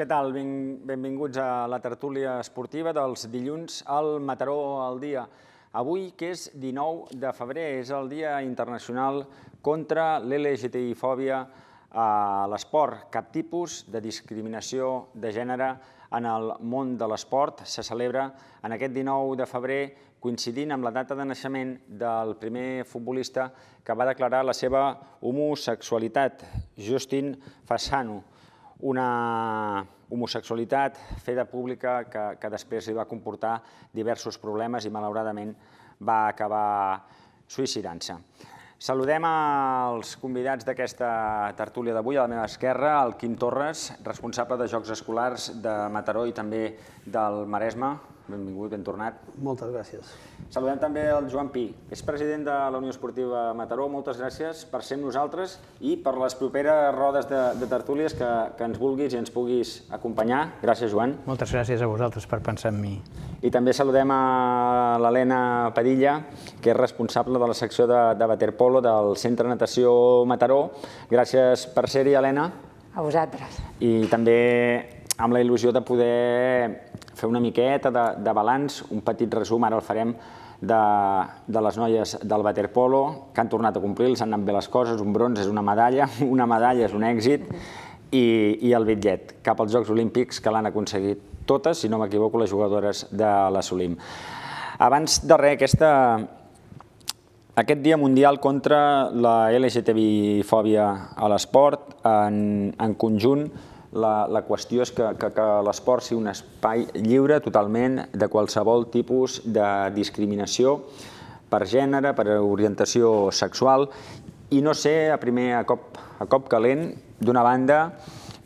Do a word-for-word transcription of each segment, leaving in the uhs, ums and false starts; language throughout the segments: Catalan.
tal? Benvinguts a la tertúlia esportiva dels dilluns al Mataró al dia. Avui, que és dinou de febrer, és el Dia Internacional contra l'L G T B I-fòbia a l'esport. Cap tipus de discriminació de gènere en el món de l'esport se celebra en aquest dinou de febrer, coincidint amb la data de naixement del primer futbolista que va declarar la seva homosexualitat, Justin Fashanu. Una homosexualitat feta pública que després li va comportar diversos problemes i, malauradament, va acabar suïcidant-se. Saludem els convidats d'aquesta tertúlia d'avui. A la meva esquerra, el Quim Torres, responsable de Jocs Escolars de Mataró i també del Maresme. Benvingut, ben tornat. Moltes gràcies. Saludem també el Joan Pi, és president de la Unió Esportiva Mataró. Moltes gràcies per ser amb nosaltres i per les properes rodes de tertúlies que ens vulguis i ens puguis acompanyar. Gràcies, Joan. Moltes gràcies a vosaltres per pensar en mi. I també saludem a l'Helena Padilla, que és responsable de la secció de waterpolo del Centre Natació Mataró. Gràcies per ser-hi, Helena. A vosaltres. I també amb la il·lusió de poder fer una miqueta de balanç, un petit resum, ara el farem, de les noies del waterpolo, que han tornat a complir, els han anat bé les coses, un bronze és una medalla, una medalla és un èxit, i el bitllet cap als Jocs Olímpics, que l'han aconseguit totes, si no m'equivoco, les jugadores de la Solim. Abans de res, aquest Dia Mundial contra la L G T B I-fòbia a l'esport, en conjunt, la qüestió és que l'esport sigui un espai lliure totalment de qualsevol tipus de discriminació per gènere, per orientació sexual, i no sé, a primer, a cop calent, d'una banda,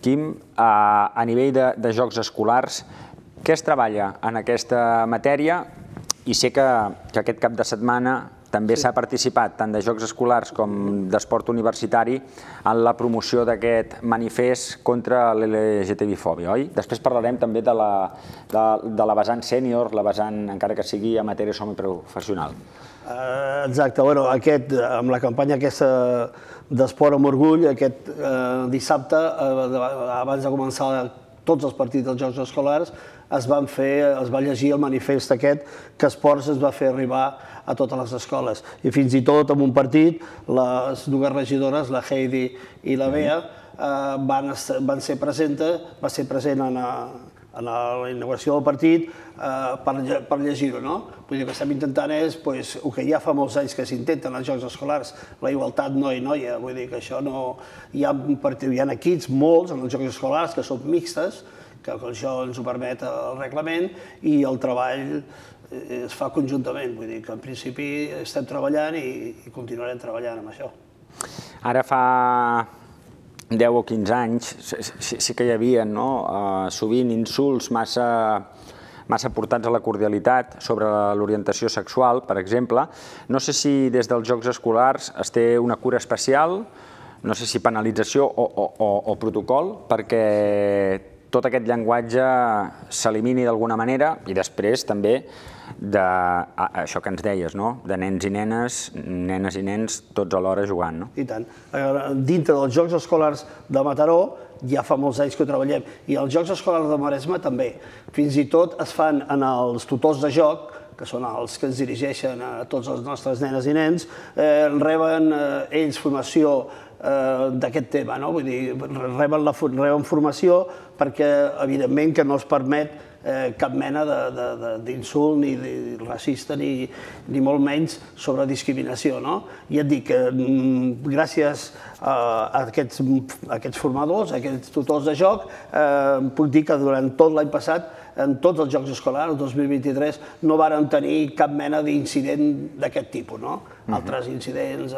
Quim, a nivell de jocs escolars, què es treballa en aquesta matèria? I sé que aquest cap de setmana també s'ha participat tant de jocs escolars com d'esport universitari en la promoció d'aquest manifest contra l'L G T B I-fòbia, oi? Després parlarem també de la vessant sènior, la vessant, encara que sigui amateur o semiprofessional. Exacte, amb la campanya aquesta d'esport amb orgull, aquest dissabte, abans de començar tots els partits dels Jocs Escolars, es van fer, es va llegir el manifest aquest que Esports es va fer arribar a totes les escoles. I fins i tot en un partit, les dues regidores, la Heidi i la Bea, van ser presentes, va ser present en la inauguració del partit per llegir-ho. Vull dir que estem intentant és, el que ja fa molts anys que s'intenten als Jocs Escolars, la igualtat noi-noia, vull dir que això no... Hi ha equips, molts, en els Jocs Escolars, que són mixtes, que això ens ho permet el reglament, i el treball es fa conjuntament. Vull dir que en principi estem treballant i continuarem treballant amb això. Ara fa deu o quinze anys sí que hi havia sovint insults massa portats a la cordialitat sobre l'orientació sexual, per exemple. No sé si des dels Jocs Escolars es té una cura especial, no sé si penalització o protocol, perquè tot aquest llenguatge s'elimini d'alguna manera, i després també d'això que ens deies, de nens i nenes, nenes i nens, tots alhora jugant. I tant. Dintre dels Jocs Escolars de Mataró ja fa molts anys que ho treballem, i els Jocs Escolars de Maresme també. Fins i tot es fan en els tutors de joc, que són els que ens dirigeixen a tots els nostres nenes i nens, reben ells formació d'aquest tema, vull dir, reben formació perquè, evidentment, que no es permet cap mena d'insult ni racista ni molt menys sobre discriminació. I et dic que gràcies a aquests formadors, a aquests tutors de joc, puc dir que durant tot l'any passat, en tots els Jocs Escolars, el dos mil vint-i-tres, no vàrem tenir cap mena d'incident d'aquest tipus. Altres incidents,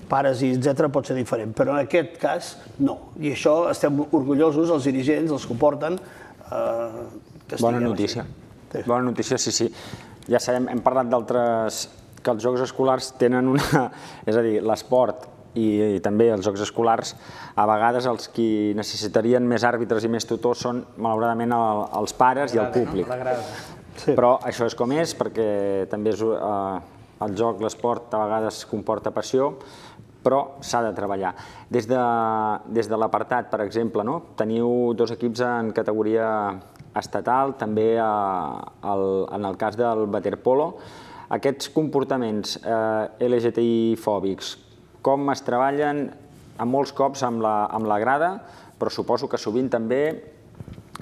pares i etcètera, pot ser diferent, però en aquest cas no. I això estem orgullosos, els dirigents, els que ho porten, que estiguem així. Bona notícia. Bona notícia, sí, sí. Ja sabem, hem parlat d'altres, que els Jocs Escolars tenen una... És a dir, l'esport i també els Jocs Escolars, a vegades els qui necessitarien més àrbitres i més tutors són, malauradament, els pares i el públic. Però això és com és, perquè també el joc, l'esport, a vegades comporta passió, però s'ha de treballar. Des de l'apartat, per exemple, teniu dos equips en categoria estatal, també en el cas del waterpolo. Aquests comportaments L G T I fòbics, com es treballen en molts cops amb la grada, però suposo que sovint també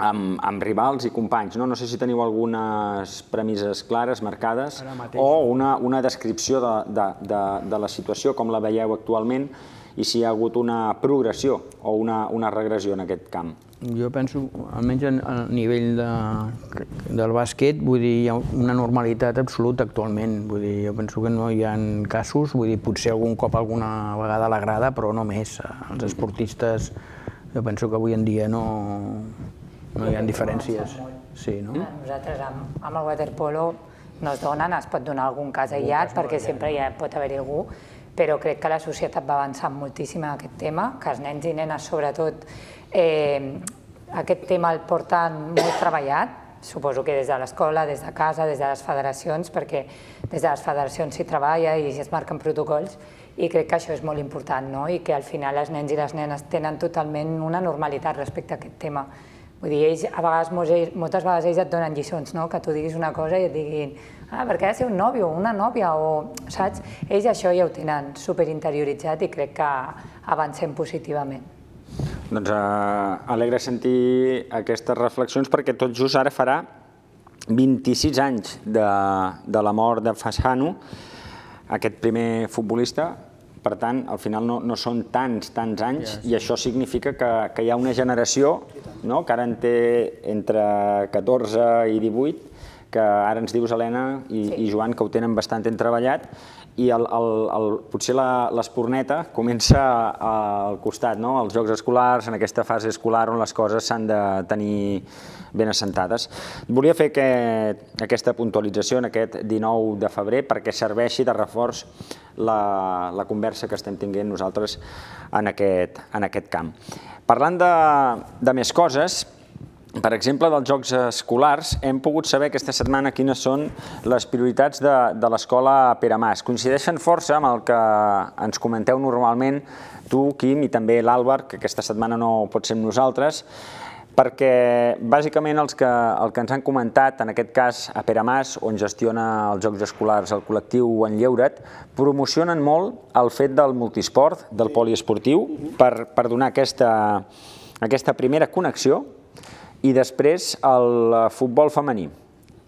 amb rivals i companys. No sé si teniu algunes premisses clares, marcades, o una descripció de la situació, com la veieu actualment, i si hi ha hagut una progressió o una regressió en aquest camp. Jo penso, almenys a nivell del bàsquet, vull dir, hi ha una normalitat absoluta actualment. Vull dir, jo penso que no hi ha casos, vull dir, potser algun cop alguna vegada a la grada, però no més. Els esportistes, jo penso que avui en dia no hi ha diferències. Nosaltres amb el waterpolo no es donen, es pot donar algun cas aïllat, perquè sempre pot haver-hi algú, però crec que la societat va avançant moltíssim en aquest tema, que els nens i nenes, sobretot, aquest tema el porten molt treballat, suposo que des de l'escola, des de casa, des de les federacions, perquè des de les federacions s'hi treballa i es marquen protocols, i crec que això és molt important, i que al final els nens i les nenes tenen totalment una normalitat respecte a aquest tema. Vull dir, ells, a vegades, moltes vegades ells et donen lliçons, que tu diguis una cosa i et diguin ah, perquè ha de ser un nòvio o una nòvia, o, saps? Ells això ja ho tenen superinterioritzat i crec que avancem positivament. Doncs alegre sentir aquestes reflexions perquè tot just ara farà vint-i-sis anys de la mort de Fassano, aquest primer futbolista. Per tant, al final no són tants, tants anys i això significa que hi ha una generació que ara en té entre catorze i divuit, que ara ens dius, Helena i Joan, que ho tenen bastant ben treballat, i potser l'espurneta comença al costat, als jocs escolars, en aquesta fase escolar on les coses s'han de tenir ben assentades. Volia fer aquesta puntualització en aquest dinou de febrer perquè serveixi de reforç la conversa que estem tinguent nosaltres en aquest camp. Parlant de més coses, per exemple, dels jocs escolars, hem pogut saber aquesta setmana quines són les prioritats de l'escola Pere Mas. Coincideixen força amb el que ens comenteu normalment tu, Quim, i també l'Àlvar, que aquesta setmana no pot ser amb nosaltres, perquè bàsicament el que ens han comentat, en aquest cas a Pere Mas, on gestiona els jocs escolars el col·lectiu En Lleura't, promocionen molt el fet del multisport, del poliesportiu, per donar aquesta primera connexió, i després el futbol femení.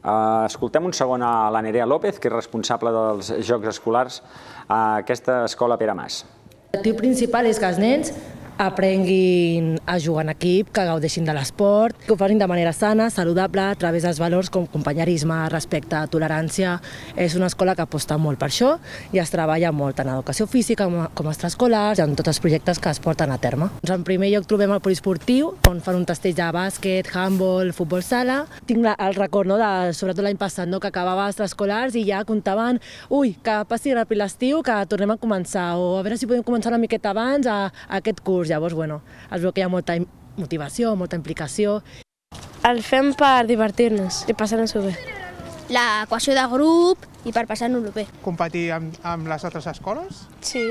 Escoltem un segon a la Nerea López, que és responsable dels Jocs Escolars a aquesta escola Pere Mas. L'objectiu principal és que els nens aprenguin a jugar en equip, que gaudeixin de l'esport, que ho facin de manera sana, saludable, a través dels valors com companyerisme, respecte, tolerància. És una escola que aposta molt per això i es treballa molt en educació física com a extraescolars i en tots els projectes que es porten a terme. En primer lloc trobem el poliesportiu, on fan un tastell de bàsquet, handball, futbol sala. Tinc el record, sobretot l'any passat, que acabava extraescolars i ja comptaven ui, que passi ràpid l'estiu, que tornem a començar, o a veure si podem començar una miqueta abans a aquest curs. Llavors, bueno, es veu que hi ha molta motivació, molta implicació. El fem per divertir-nos i passar-nos-ho bé. La cohesió de grup i per passar-nos-ho bé. Competir amb les altres escoles? Sí.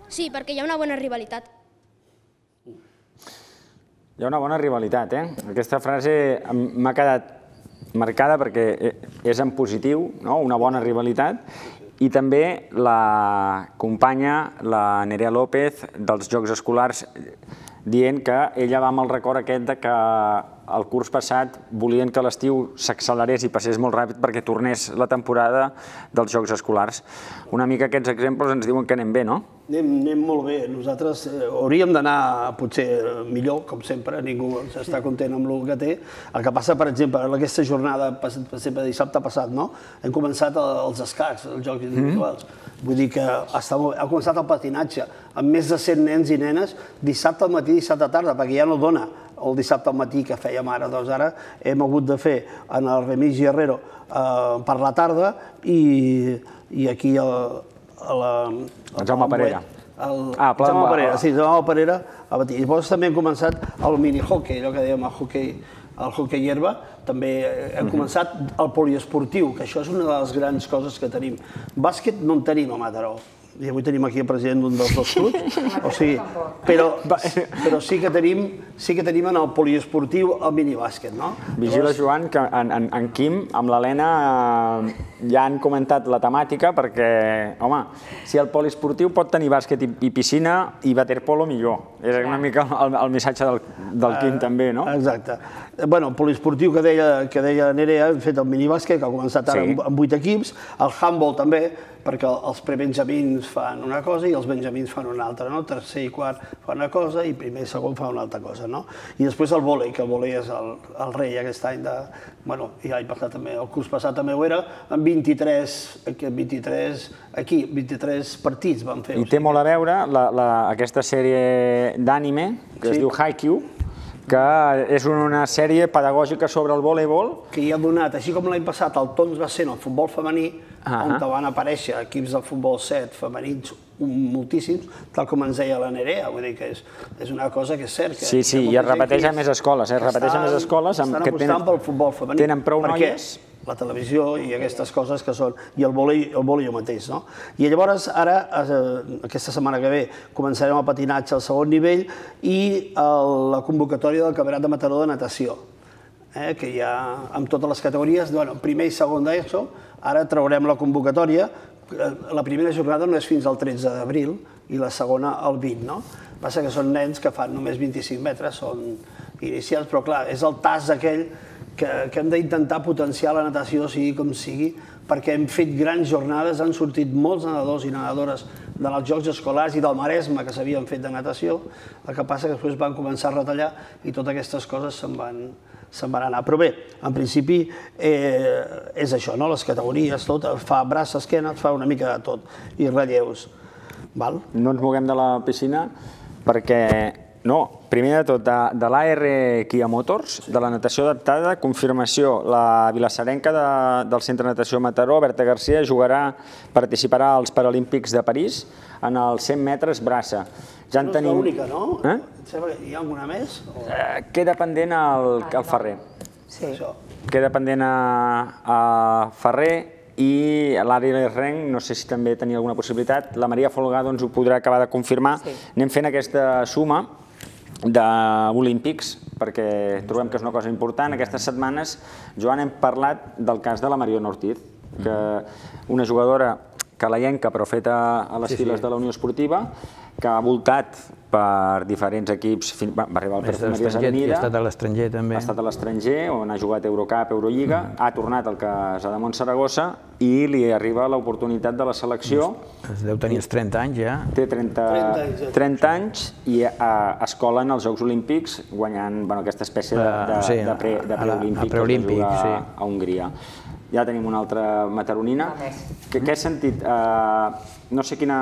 Sí, perquè hi ha una bona rivalitat. Hi ha una bona rivalitat, eh? Aquesta frase m'ha quedat marcada perquè és en positiu, una bona rivalitat. I també la companya, la Nerea López, dels Jocs Escolars, dient que ella va amb el record aquest que el curs passat volien que l'estiu s'accelerés i passés molt ràpid perquè tornés la temporada dels Jocs Escolars. Una mica aquests exemples ens diuen que anem bé, no? Anem molt bé. Nosaltres hauríem d'anar potser millor, com sempre, ningú està content amb el que té. El que passa, per exemple, en aquesta jornada, per exemple, dissabte passat, hem començat els escacs, els jocs individuals. Vull dir que ha començat el patinatge, amb més de cent nens i nenes, dissabte al matí i dissabte a tarda, perquè ja no dona el dissabte al matí que fèiem ara. Doncs ara hem hagut de fer en el Remís Guerrero per la tarda i aquí a la... El Jaume Parera. Ah, Jaume Parera, sí, Jaume Parera al matí. I llavors també hem començat el mini-hockey, allò que dèiem el hockey, el hockey herba, també hem començat el poliesportiu, que això és una de les grans coses que tenim. Bàsquet no en tenim a Mataró. i avui tenim aquí el president d'un dels dos clubs, o sigui, però, però sí que tenim sí que tenim en el poliesportiu el minibàsquet, no? Vigila, Joan, que en, en, en Quim, amb l'Helena, ja han comentat la temàtica perquè, home, si el poliesportiu pot tenir bàsquet i, i piscina i waterpolo, millor. És una mica el, el missatge del, del Quim, també, no? Exacte. Bueno, el poliesportiu que deia, que deia Nerea, hem fet el minibàsquet, que ha començat ara sí. amb vuit equips, el handball també, perquè els prebenjamins fan una cosa i els benjamins fan una altra, no? Tercer i quart fan una cosa i primer i segon fan una altra cosa, no? I després el vòlei, que el vòlei és el, el rei aquest any de... Bueno, i l'any passat també, el curs passat també ho era, amb vint-i-tres, vint-i-tres, aquí, vint-i-tres partits van fer. I té molt a veure la, la, aquesta sèrie d'ànime, que sí. es diu Haikyuu, que és una sèrie pedagògica sobre el voleibol. Que hi ha donat, així com l'any passat el tons va ser en el futbol femení, uh-huh. on van aparèixer equips del futbol set femenins moltíssims, tal com ens deia la Nerea, vull dir que és, és una cosa que és cert. Que sí, sí, i es repeteix a més escoles, es repeteix a més escoles amb que tenen, pel futbol femení, tenen prou noies. La televisió i aquestes coses que són, i el vòlei el vòlei mateix, no? I llavors ara, aquesta setmana que ve, començarem el patinatge al segon nivell i la convocatòria del Campionat de Mataró de natació, que hi ha amb totes les categories, primer i segon d'ESO, ara traurem la convocatòria, la primera jornada no és fins al tretze d'abril i la segona al vint, no? Passa que són nens que fan només vint-i-cinc metres, són inicials, però clar, és el tas aquell que hem d'intentar potenciar la natació, sigui com sigui, perquè hem fet grans jornades, han sortit molts nedadors i nedadores dels Jocs Escolars i del Maresme que s'havien fet de natació, el que passa que després van començar a retallar i totes aquestes coses se'n van, se'n van anar. Però bé, en principi eh, és això, no? Les categories, tot, fa braç, esquena, fa una mica de tot, i relleus. Val? No ens moguem de la piscina perquè... No, primer de tot, de, de l'A R Kia Motors, de la natació adaptada, confirmació, la vilassarenca de, del Centre de Natació Mataró, Berta Garcia, jugarà, participarà als Paralímpics de París en els cent metres braça. Ja en no és tenim... l'única, no? Eh? Hi ha alguna més? O... Eh, queda pendent el, el Ferrer. Sí. Queda pendent a, a Ferrer i l'Ari Renc, no sé si també tenia alguna possibilitat. La Maria Folgado ens ho podrà acabar de confirmar. Sí. Anem fent aquesta suma d'olímpics, perquè trobem que és una cosa important. Aquestes setmanes, Joan, hem parlat del cas de la Mariona Ortiz, que una jugadora calaienca, però feta a les files de la Unió Esportiva, que ha voltat per diferents equips, va arribar al Perfumeries Avenida, ha estat a l'estranger també. Ha estat a l'estranger, on ha jugat Eurocup, Eurolliga, ha tornat al Casademont Saragossa i li arriba l'oportunitat de la selecció. Es deu tenir els trenta anys ja. Té trenta anys i es cola en els Jocs Olímpics guanyant aquesta espècie de preolímpic a Hongria. Ja tenim una altra mataronina. Què has sentit? No sé quina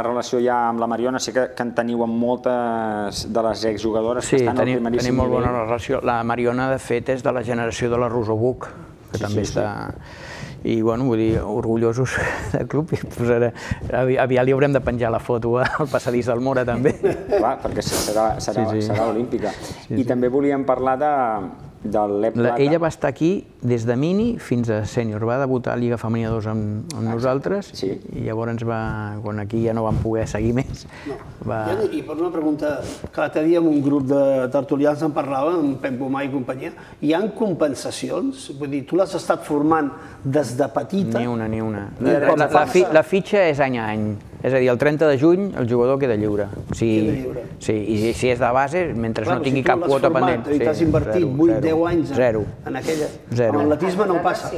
relació hi ha amb la Mariona, sé que en teniu amb moltes de les exjugadores que estan al primeríssim nivell. Sí, tenim molt bona relació. La Mariona, de fet, és de la generació de la Rosa Buch, que també està... I, bueno, vull dir, orgullosos del club. Aviat li haurem de penjar la foto al passadís del Mora, també. Clar, perquè serà olímpica. I també volíem parlar de... Ella va estar aquí des de mini fins a sènior. Va debutar a Lliga Femenina dos amb nosaltres i llavors, quan aquí ja no vam poder seguir més... I per una pregunta, que l'altre dia en un grup de tertulians en parlava, amb Pep Gomà i companyia, hi ha compensacions? Vull dir, tu l'has estat formant des de petita? Ni una, ni una. La fitxa és any a any. És a dir, el trenta de juny el jugador queda lliure. Sí, i si és de base, mentre no tingui cap quota pendent. I t'has invertit vuit deu anys en aquella... En l'atletisme no passa.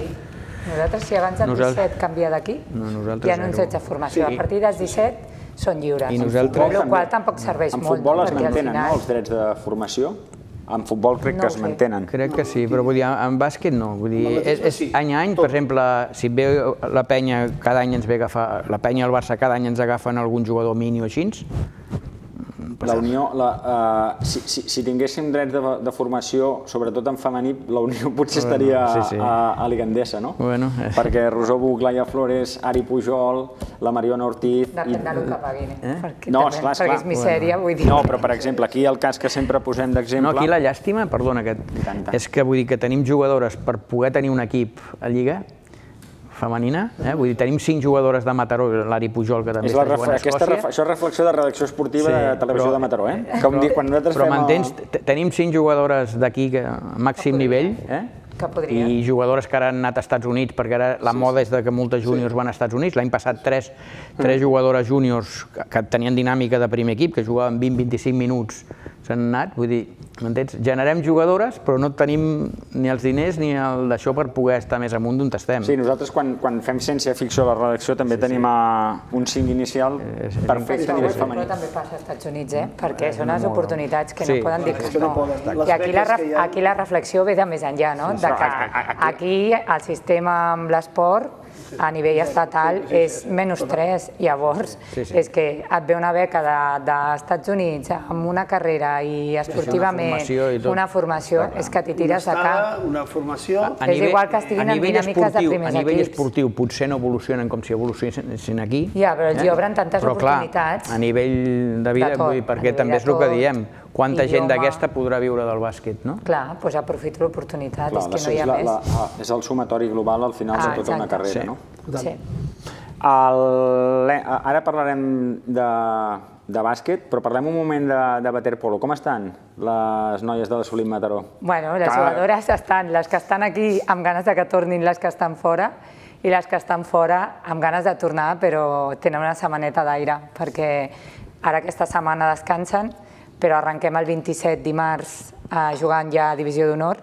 Nosaltres, si abans del disset canvia d'aquí, hi ha uns anys de formació. A partir dels disset són lliures. Amb la qual tampoc serveix molt. En futbol es mantenen els drets de formació? En futbol crec que es mantenen. Crec que sí, però vull dir, en bàsquet no. Vull dir, és any a any, per exemple, si ve la penya, cada any ens ve agafar, la penya i el Barça cada any ens agafen algun jugador mini o així. La Unió, si tinguéssim drets de formació, sobretot en femení, la Unió potser estaria a Ligandesa, no? Perquè Rosó Buch, Laia Flores, Ari Pujol, la Mariona Ortiz... Depèn del que paguin, no, esclar, esclar. Perquè és misèria, vull dir... No, però per exemple, aquí el cas que sempre posem d'exemple... No, aquí la llàstima, perdona, és que vull dir que tenim jugadores per poder tenir un equip a Lliga femenina, vull dir, tenim cinc jugadores de Mataró, l'Ari Pujol, que també està jugant a Escòcia. Això és reflexió de redacció esportiva de Televisió de Mataró, eh? Però m'entens, tenim cinc jugadores d'aquí a màxim nivell, i jugadores que ara han anat als Estats Units, perquè ara la moda és que moltes júniors van als Estats Units. L'any passat tres jugadores júniors que tenien dinàmica de primer equip, que jugaven vint a vint-i-cinc minuts, s'han anat, vull dir, m'entens? Generem jugadores, però no tenim ni els diners ni el d'això per poder estar més amunt d'on estem. Sí, nosaltres quan fem ciència-ficció a la redacció també tenim un cinc inicial perfecte a nivell femení. Però també passa als Estats Units, eh? Perquè són les oportunitats que no poden dir que no. I aquí la reflexió ve de més enllà, no? Aquí el sistema amb l'esport a nivell estatal és menys tres. Llavors, és que et ve una beca dels Estats Units amb una carrera i esportivament una formació, és que t'hi tires a cap. Una formació... És igual que estiguin en dinàmiques de primers equips. A nivell esportiu potser no evolucionen com si evolucionessin aquí. Ja, però els obren tantes oportunitats. Però clar, a nivell de vida, perquè també és el que diem, quanta gent d'aquesta podrà viure del bàsquet, no? Clar, doncs aprofito l'oportunitat, és que no hi ha més. És el sumatori global al final de tota una carrera, no? Sí. Ara parlarem de bàsquet, però parlem un moment de waterpolo. Com estan les noies de l'Assolim Mataró? Bueno, les jugadores estan, les que estan aquí amb ganes que tornin les que estan fora, i les que estan fora amb ganes de tornar, però tenen una setmaneta d'aire, perquè ara aquesta setmana descansen, però arrenquem el vint-i-set dimarts jugant ja a Divisió d'Honor.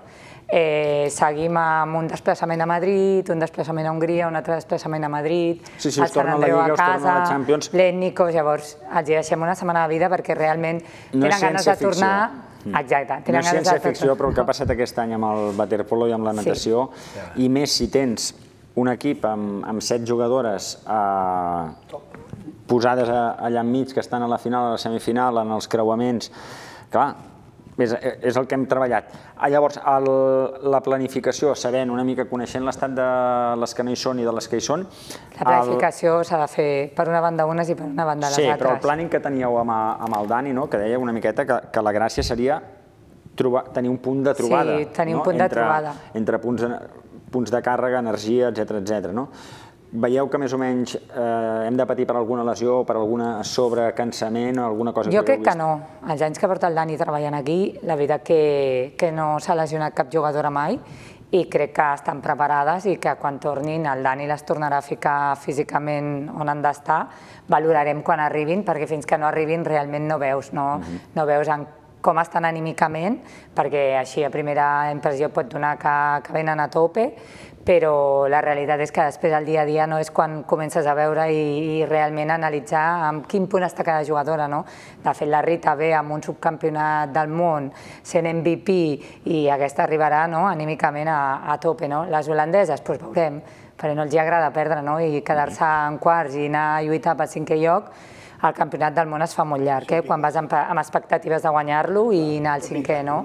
Seguim amb un desplaçament a Madrid, un desplaçament a Hongria, un altre desplaçament a Madrid, el Sant Andreu a casa, l'Ètnicos, llavors els deixem una setmana de vida perquè realment tenen ganes de tornar. Exacte. No és ciència-ficció, però el que ha passat aquest any amb el waterpolo i amb la natació, i més si tens un equip amb set jugadores posades allà enmig, que estan a la final, a la semifinal, en els creuaments, clar, és el que hem treballat. Llavors, la planificació, sabent una mica, coneixent l'estat de les que no hi són i de les que hi són... La planificació s'ha de fer per una banda unes i per una banda les altres. Sí, però el planning que teníeu amb el Dani, que deia una miqueta que la gràcia seria tenir un punt de trobada. Sí, tenir un punt de trobada. Entre punts de càrrega, energia, etcètera, etcètera. Veieu que més o menys hem de patir per alguna lesió, per alguna sobrecansament o alguna cosa que jo heu crec vist? que no. Els anys que porta el Dani treballant aquí, la veritat que no s'ha lesionat cap jugadora mai i crec que estan preparades i que quan tornin el Dani les tornarà a ficar físicament on han d'estar. Valorarem quan arribin, perquè fins que no arribin realment no veus, no veus com estan anímicament, perquè així a primera impressió pot donar que venen a tope, però la realitat és que després el dia a dia no és quan comences a veure i realment analitzar amb quin punt està cada jugadora. De fet, la Rita ve amb un subcampionat del món, sent M V P, i aquesta arribarà anímicament a tope. Les holandeses, doncs veurem, perquè no els agrada perdre i quedar-se en quarts i anar a lluitar pel cinquè lloc. El campionat del món es fa molt llarg, quan vas amb expectatives de guanyar-lo i anar al cinquè, no?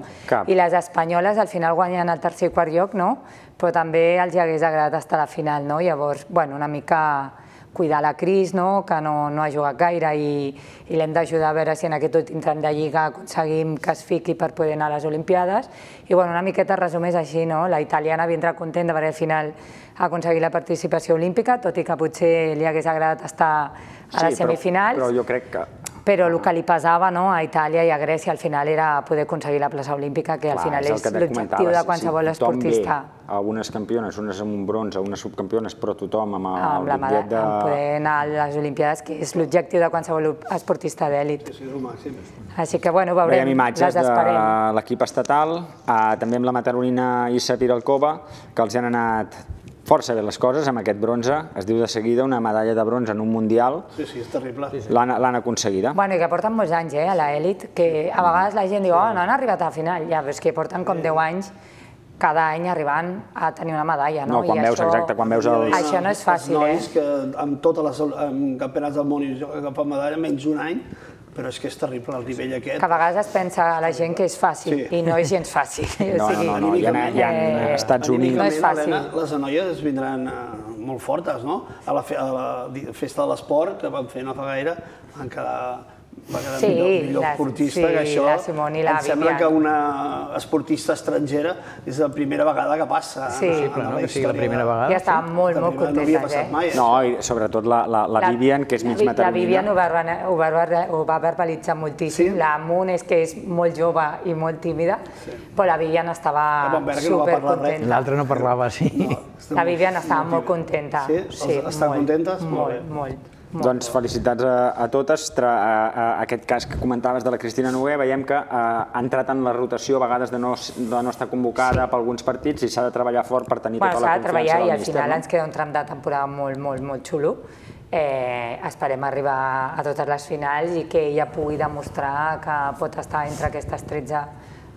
I les espanyoles al final guanyen el tercer i quart lloc, no? Però també els hagués agradat estar a la final, no? Llavors, bueno, una mica cuidar la Cris, que no ha jugat gaire i l'hem d'ajudar a veure si en aquest últim tram de Lliga aconseguim que es fiqui per poder anar a les Olimpiades. I una miqueta resumés així, la italiana vindrà contenta perquè al final ha aconseguit la participació olímpica, tot i que potser li hagués agradat estar a les semifinals. Però jo crec que... Però el que li pesava a Itàlia i a Grècia al final era poder aconseguir la plaça olímpica, que al final és l'objectiu de qualsevol esportista. Algunes campiones, unes amb un bronze, unes subcampiones, però tothom amb el bitllet de... Amb poder anar a les Olimpiades, que és l'objectiu de qualsevol esportista d'èlit. Així que, bueno, veurem, veiem imatges de l'equip estatal, també amb la mataronina Issa Piralcova, que els han anat força bé les coses amb aquest bronze. Es diu de seguida una medalla de bronze en un mundial. Sí, sí, és terrible. L'han aconseguida. Bueno, i que porten molts anys a l'elit, que a vegades la gent diu, oh, no han arribat a la final. Ja, però és que porten com deu anys cada any arribant a tenir una medalla, no? No, quan veus, exacte, quan veus els... Això no és fàcil, eh? Els nois que amb tots els campionats del món i agafant medalla menys un any, però és que és terrible el nivell aquest. Que a vegades es pensa la gent que és fàcil, i no és gens fàcil. No, no, no, hi ha Estats Units... No és fàcil. Les noies vindran molt fortes, no? A la festa de l'esport que vam fer no fa gaire, van quedar va quedar millor esportista, que això em sembla que una esportista estrangera és la primera vegada que passa. Sí, no que sigui la primera vegada. Ja estaven molt, molt contentes, eh? No, i sobretot la Vivian, que és mig maternina. La Vivian ho va verbalitzar moltíssim. La Moon és que és molt jove i molt tímida, però la Vivian estava supercontenta. L'altra no parlava, sí. La Vivian estava molt contenta. Sí? Estan contentes? Molt, molt. Doncs felicitats a totes. Aquest cas que comentaves de la Cristina Noguer, veiem que ha entrat en la rotació a vegades de no estar convocada per alguns partits i s'ha de treballar fort per tenir tota la confiança del míster. S'ha de treballar i al final ens queda un tram de temporada molt, molt, molt xulo. Esperem arribar a totes les finals i que ella pugui demostrar que pot estar entre aquestes tretze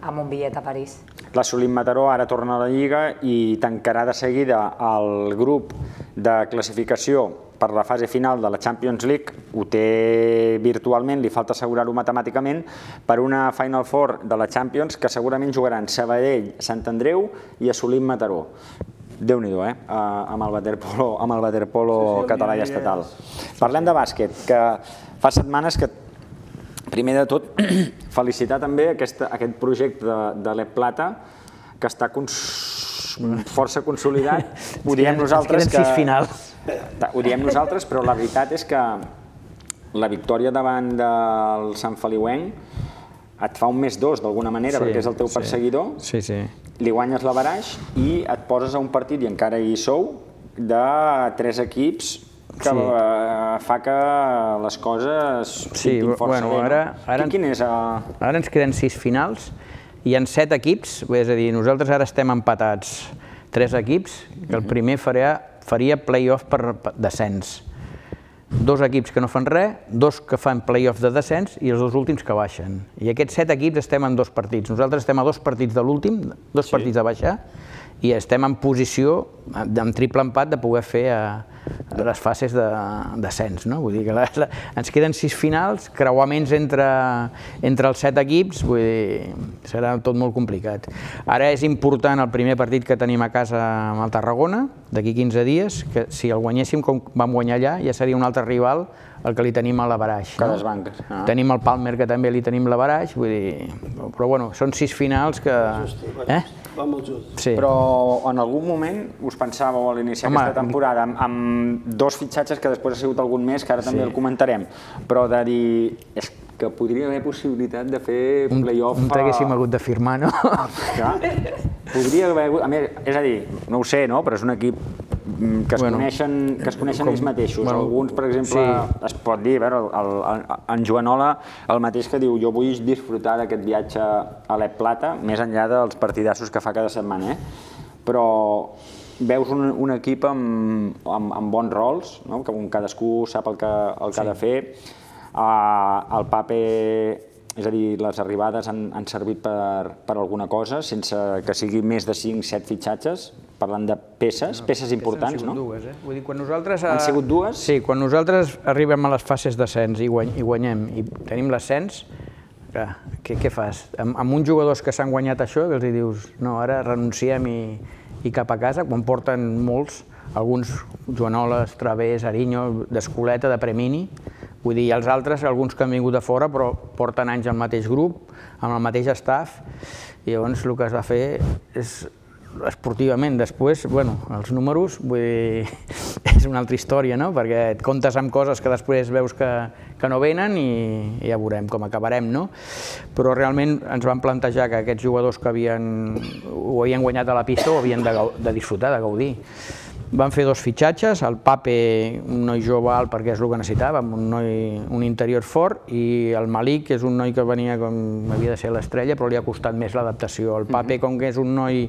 amb un bitllet a París. La Solim Mataró ara torna a la Lliga i tancarà de seguida el grup de classificació per la fase final de la Champions League. Ho té virtualment, li falta assegurar-ho matemàticament, per una Final Four de la Champions que segurament jugaran Sabadell, Sant Andreu i a Solim Mataró. Déu-n'hi-do, eh? Amb el waterpolo català i estatal. Parlem de bàsquet, que fa setmanes que, primer de tot, felicitar també aquest projecte de l'E Plata, que està força consolidat. Ho diem nosaltres que... sis finals. Ho diem nosaltres, però la veritat és que la victòria davant del Sant Feliuenc et fa un més dos, d'alguna manera, perquè és el teu perseguidor. Sí, sí. Li guanyes l'averaix i et poses a un partit, i encara hi sou, de tres equips que fa que les coses pintin força bé. Ara ens queden sis finals, hi ha set equips, és a dir, nosaltres ara estem empatats tres equips, que el primer faria play-off per descens. Dos equips que no fan res, dos que fan play-off de descens i els dos últims que baixen. I aquests set equips estem en dos partits. Nosaltres estem a dos partits de l'últim, dos partits de baixar, i estem en posició, amb triple empat, de poder fer les fases de descens. Vull dir que ens queden sis finals, creuaments entre els set equips, vull dir, serà tot molt complicat. Ara és important el primer partit que tenim a casa amb el Tarragona, d'aquí quinze dies, que si el guanyéssim com vam guanyar allà, ja seria un altre rival el que li tenim a l'averaix. Que les banques. Tenim el Palmer, que també li tenim l'averaix, vull dir... Però, bueno, són sis finals que... Va molt just. Però en algun moment us pensàveu a l'iniciar aquesta temporada amb dos fitxatges que després ha sigut algun mes, que ara també el comentarem, però de dir és que podria haver possibilitat de fer play-off... Un t'haguéssim hagut de firmar, no? Podria haver hagut... A més, és a dir, no ho sé, no? Però és un equip que es coneixen ells mateixos. Alguns, per exemple, es pot dir, en Joanola, el mateix que diu jo vull disfrutar d'aquest viatge a l'E Plata, més enllà dels partidassos que fa cada setmana, però veus un equip amb bons rols, que cadascú sap el que ha de fer. El Pape, és a dir, les arribades han servit per alguna cosa, sense que sigui més de cinc set fitxatges, parlant de peces, peces importants, no? Han sigut dues, eh? Vull dir, quan nosaltres... Han sigut dues? Sí, quan nosaltres arribem a les fases d'ascens i guanyem i tenim l'ascens, què fas? Amb uns jugadors que s'han guanyat això, que els dius, no, ara renunciem i cap a casa, quan porten molts, alguns Joanoles, Través, Ariño, d'Escoleta, de Premini, vull dir, els altres, alguns que han vingut de fora, però porten anys al mateix grup, amb el mateix staff, i llavors el que has de fer és esportivament. Després, bueno, els números, vull dir, és una altra història, no? Perquè et comptes amb coses que després veus que no venen i ja veurem com acabarem, no? Però realment ens vam plantejar que aquests jugadors que ho havien guanyat a la pista ho havien de disfrutar, de gaudir. Vam fer dos fitxatges, el Pape, un noi jove alt perquè és el que necessitàvem, un interior fort, i el Malik, que és un noi que venia com havia de ser l'estrella, però li ha costat més l'adaptació. El Pape, com que és un noi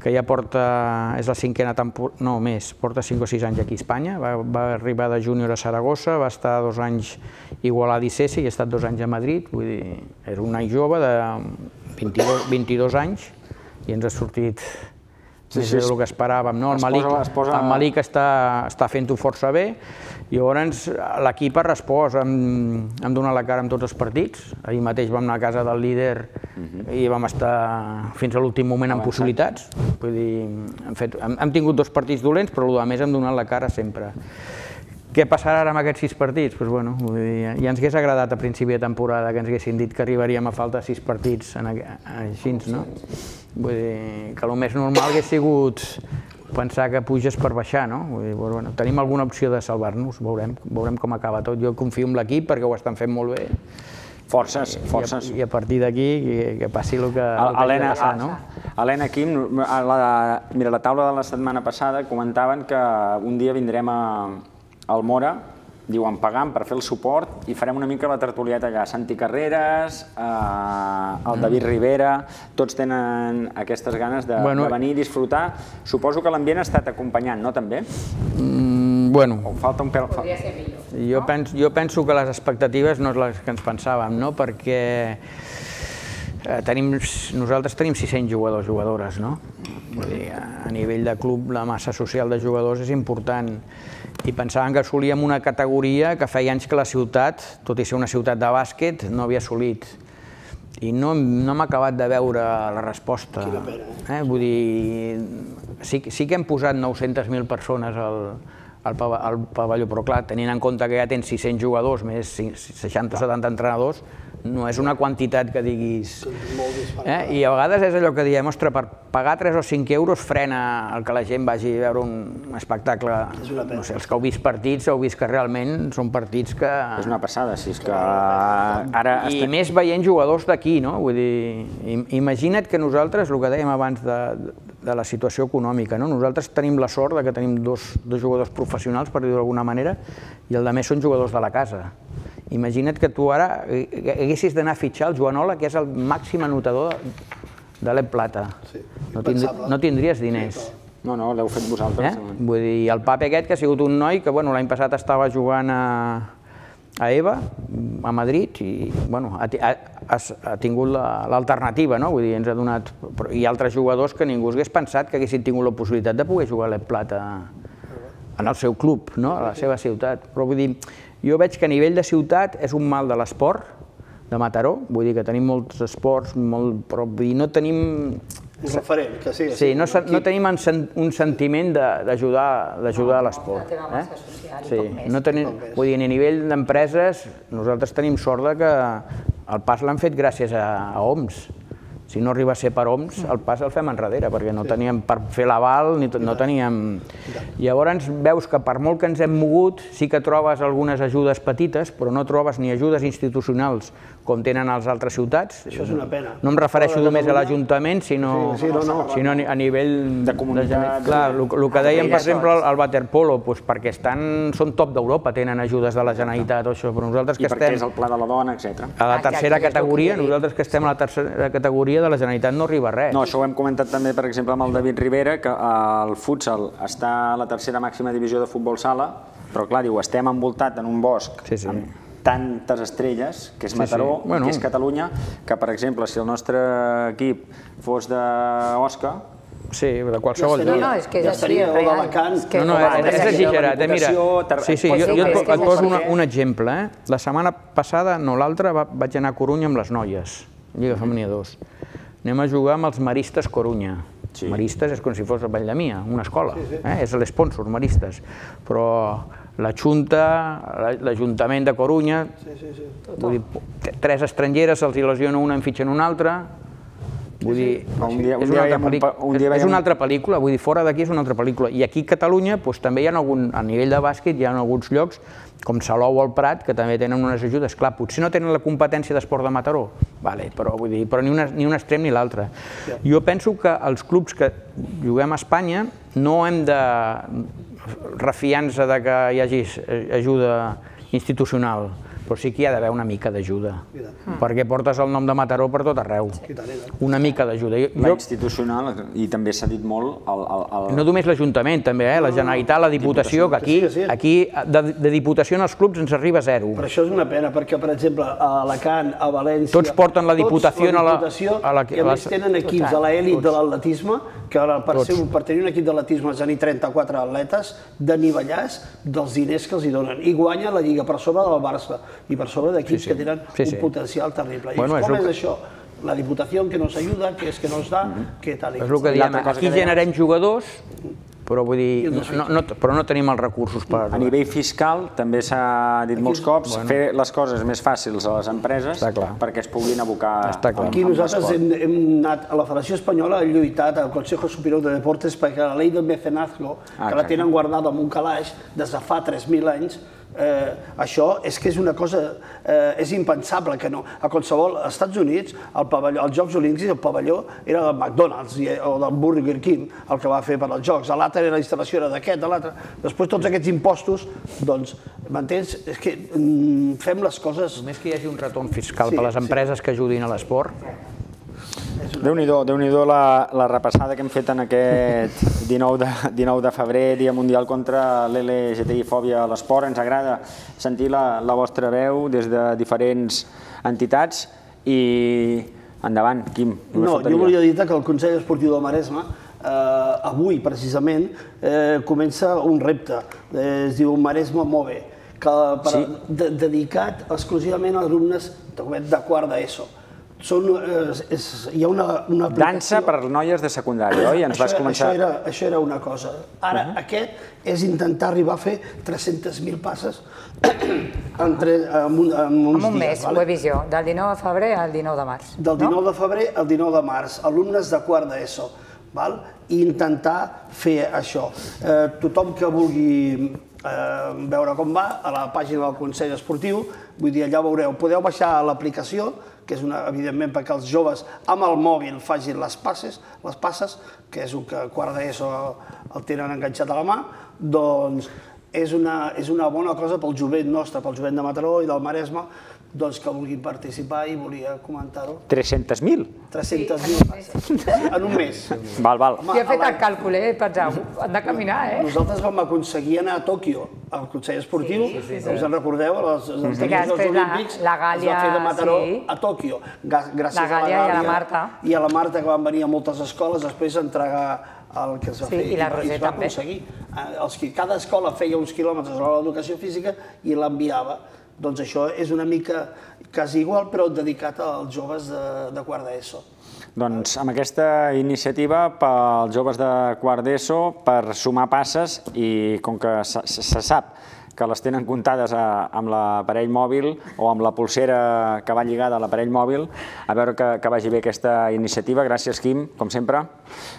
que ja porta, és la cinquena temporada, no, més, porta cinc o sis anys aquí a Espanya, va arribar de júnior a Saragossa, va estar dos anys igual a Dicesi i ha estat dos anys a Madrid, vull dir, és un noi jove de vint-i-dos anys i ens ha sortit més del que esperàvem. El Malik està fent-ho força bé i llavors l'equip ha respost, hem donat la cara en tots els partits. Ahir mateix vam anar a casa del líder i vam estar fins a l'últim moment amb possibilitats. Vull dir, hem tingut dos partits dolents, però a més hem donat la cara sempre. Què passarà ara amb aquests sis partits? Doncs bueno, ja ens hagués agradat a principi de temporada que ens haguessin dit que arribaríem a falta sis partits així, no? Vull dir que el més normal hagués sigut pensar que puges per baixar, no? Vull dir, bueno, tenim alguna opció de salvar-nos, veurem, veurem com acaba tot. Jo confio en l'equip perquè ho estan fent molt bé. Forces, forces. I a partir d'aquí que passi el que hagi de passar, no? Helena, Quim, mira, a la taula de la setmana passada comentaven que un dia vindrem al Mora, diuen, pagant per fer el suport i farem una mica la tertulieta allà. Santi Carreras, el David Rivera, tots tenen aquestes ganes de venir i disfrutar. Suposo que l'ambient ha estat acompanyant, no, també? Bueno, podria ser millor. Jo penso que les expectatives no és les que ens pensàvem, no? Perquè nosaltres tenim sis-cents jugadors, jugadores, no? Vull dir, a nivell de club la massa social de jugadors és important i pensàvem que assolíem una categoria que feia anys que la ciutat, tot i ser una ciutat de bàsquet, no havia assolit. I no hem acabat de veure la resposta. Quina pena. Vull dir, sí que hem posat nou-centes mil persones al pavelló, però clar, tenint en compte que ja tens sis-cents jugadors, més seixanta o setanta entrenadors, no és una quantitat que diguis... I a vegades és allò que diem, ostres, per pagar tres o cinc euros frena el que la gent vagi a veure un espectacle. No sé, els que heu vist partits, heu vist que realment són partits que... És una passada, si és que ara... I més veient jugadors d'aquí, no? Vull dir, imagina't que nosaltres, el que dèiem abans de la situació econòmica, no? Nosaltres tenim la sort que tenim dos jugadors professionals, per dir-ho d'alguna manera, i el de més són jugadors de la casa. Imagina't que tu ara haguessis d'anar a fitxar el Joanola, que és el màxim anotador de l'E Plata. No tindries diners. No, no, l'heu fet vosaltres. Vull dir, el Pape aquest, que ha sigut un noi que l'any passat estava jugant a EVA, a Madrid, i ha tingut l'alternativa, no? Vull dir, ens ha donat... Hi ha altres jugadors que ningú hagués pensat que haguessin tingut la possibilitat de poder jugar a l'E Plata en el seu club, a la seva ciutat. Però vull dir, jo veig que a nivell de ciutat és un mal de l'esport, de Mataró, vull dir que tenim molts esports, però no tenim... Un referent, que sí. Sí, no tenim un sentiment d'ajudar a l'esport. La teva massa social i poc més. Vull dir, a nivell d'empreses, nosaltres tenim sort que el pas l'han fet gràcies a O M S. Si no arriba a ser per O M S, el pas el fem enrere, perquè no teníem per fer l'aval, no teníem... Llavors veus que per molt que ens hem mogut, sí que trobes algunes ajudes petites, però no trobes ni ajudes institucionals com tenen a les altres ciutats. Això és una pena. No em refereixo només a l'Ajuntament, sinó a nivell... De comunitat... Clar, el que dèiem, per exemple, al waterpolo, perquè són top d'Europa, tenen ajudes de la Generalitat o això, però nosaltres que estem... I perquè és el Pla de la Dona, etcètera. A la tercera categoria, nosaltres que estem a la tercera categoria de la Generalitat no arriba a res. No, això ho hem comentat també, per exemple, amb el David Rivera, que el futsal està a la tercera màxima divisió de futbol sala, però clar, diu, estem envoltat en un bosc amb tantes estrelles, que és Mataró, que és Catalunya, que, per exemple, si el nostre equip fos d'Osca... Sí, de qualsevol dia. No, és que és així, és real. No, no, és exagerat. Mira, jo et poso un exemple. La setmana passada, no l'altra, vaig anar a Corunya amb les noies, Lliga Femenina dos. Anem a jugar amb els Maristes Corunya. Maristes és com si fos el Valldemia, una escola. És l'espònsor, Maristes. Però la Junta, l'Ajuntament de Corunya, tres estrangeres, se'ls lesiona una, en fitxen una altra. Vull dir, és una altra pel·lícula, vull dir, fora d'aquí és una altra pel·lícula. I aquí a Catalunya també hi ha algun, a nivell de bàsquet, hi ha alguns llocs, com Salou o el Prat, que també tenen unes ajudes. Clar, potser no tenen la competència d'esport de Mataró, però ni un extrem ni l'altre. Jo penso que els clubs que juguem a Espanya no hem de refiar-nos que hi hagi ajuda institucional, però sí que hi ha d'haver una mica d'ajuda, perquè portes el nom de Mataró per tot arreu. Una mica d'ajuda. La institucional, i també s'ha dit molt... No només l'Ajuntament, també, la Generalitat, la Diputació, que aquí de Diputació en els clubs ens arriba a zero. Però això és una pena, perquè, per exemple, a Alacant, a València... Tots porten la Diputació a la... I a més tenen equips a l'elit de l'atletisme, que per tenir un equip d'atletisme has de tenir trenta-quatre atletes, d'anivellars dels diners que els hi donen. I guanya la Lliga per sobre del Barça i per sobre d'equips que tenen un potencial terrible. I com és això? La Diputació que nos ayuda, que és que nos da, que tal i tal. És el que diem, aquí generem jugadors però vull dir, però no tenim els recursos per... A nivell fiscal, també s'ha dit molts cops, fer les coses més fàcils a les empreses perquè es puguin abocar amb l'esport. Aquí nosaltres hem anat a la Federació Espanyola, hem lluitat al Consejo Superior de Deportes perquè la llei del mecenazgo, que la tenen guardada en un calaix des de fa tres mil anys, això és que és una cosa, és impensable que no. A qualsevol, als Estats Units, als Jocs Olímpics, el pavelló era del McDonald's o del Burger King, el que va fer per als Jocs. L'altre, la instal·lació era d'aquest, de l'altre. Després tots aquests impostos, doncs, m'entens? És que fem les coses... Només que hi hagi un retorn fiscal per les empreses que ajudin a l'esport. Déu-n'hi-do, Déu-n'hi-do la repassada que hem fet en aquest dinou de febrer, Dia Mundial contra l'L G T B I fòbia a l'esport. Ens agrada sentir la vostra veu des de diferents entitats i endavant, Quim. No, jo volia dir que el Consell Esportiu del Maresme avui, precisament, comença un repte, es diu Maresme Move, dedicat exclusivament a alumnes de quart d'ESO. Hi ha una aplicació... Dansa per noies de secundària, oi? Això era una cosa. Ara, aquest és intentar arribar a fer tres-centes mil passes en uns un mes, Wevisió, del dinou de febrer al dinou de març. Del dinou de febrer al dinou de març, alumnes de quart d'ESO. I intentar fer això. Tothom que vulgui veure com va, a la pàgina del Consell Esportiu, vull dir, allà veureu, podeu baixar l'aplicació, que és evidentment perquè els joves amb el mòbil facin les passes, les passes, que és el que quart d'ESO el tenen enganxat a la mà, doncs és una bona cosa pel jovent nostre, pel jovent de Mataró i del Maresme, doncs que vulguin participar i volia comentar-ho. tres-centes mil? tres-centes mil passes, en un mes. Val, val. Jo he fet el càlcul, eh? Penseu, han de caminar, eh? Nosaltres vam aconseguir anar a Tòquio, al Consell Esportiu, us en recordeu, els Jocs Olímpics, es va fer de Mataró a Tòquio, gràcies a la Gàlia i a la Marta, que van venir a moltes escoles després a entregar el que es va fer. I la Roser també. Cada escola feia uns quilòmetres a l'educació física i l'enviava. Doncs això és una mica quasi igual, però dedicat als joves de quart d'ESO. Doncs amb aquesta iniciativa pels joves de quart d'ESO per sumar passes i com que se sap que les tenen comptades amb l'aparell mòbil o amb la pulsera que va lligada a l'aparell mòbil, a veure que vagi bé aquesta iniciativa. Gràcies, Quim, com sempre.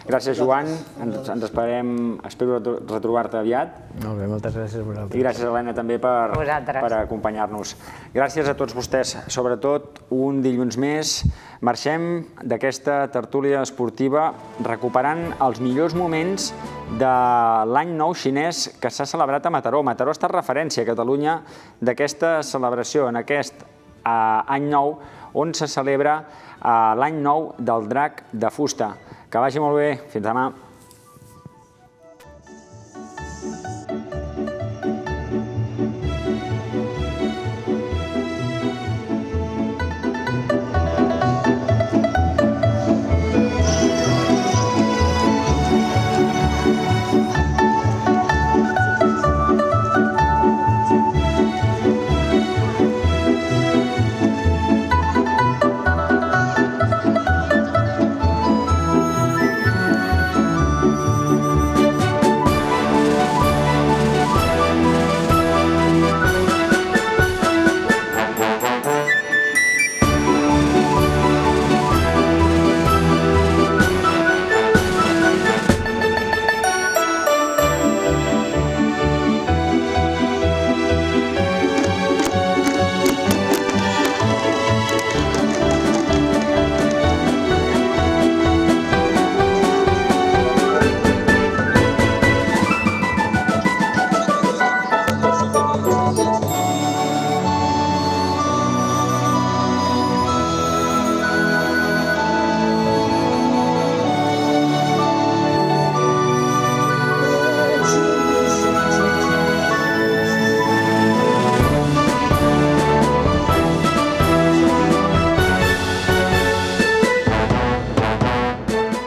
Gràcies, Joan. Ens esperem, espero retrobar-te aviat. Molt bé, moltes gràcies a vosaltres. I gràcies, Helena, també per acompanyar-nos. Gràcies a tots vostès. Sobretot, un dilluns més, marxem d'aquesta tertúlia esportiva recuperant els millors moments de l'any nou xinès que s'ha celebrat a Mataró. Mataró ha estat referència a Catalunya d'aquesta celebració, en aquest any nou, on se celebra l'any nou del drac de fusta. Que vagi molt bé. Fins demà.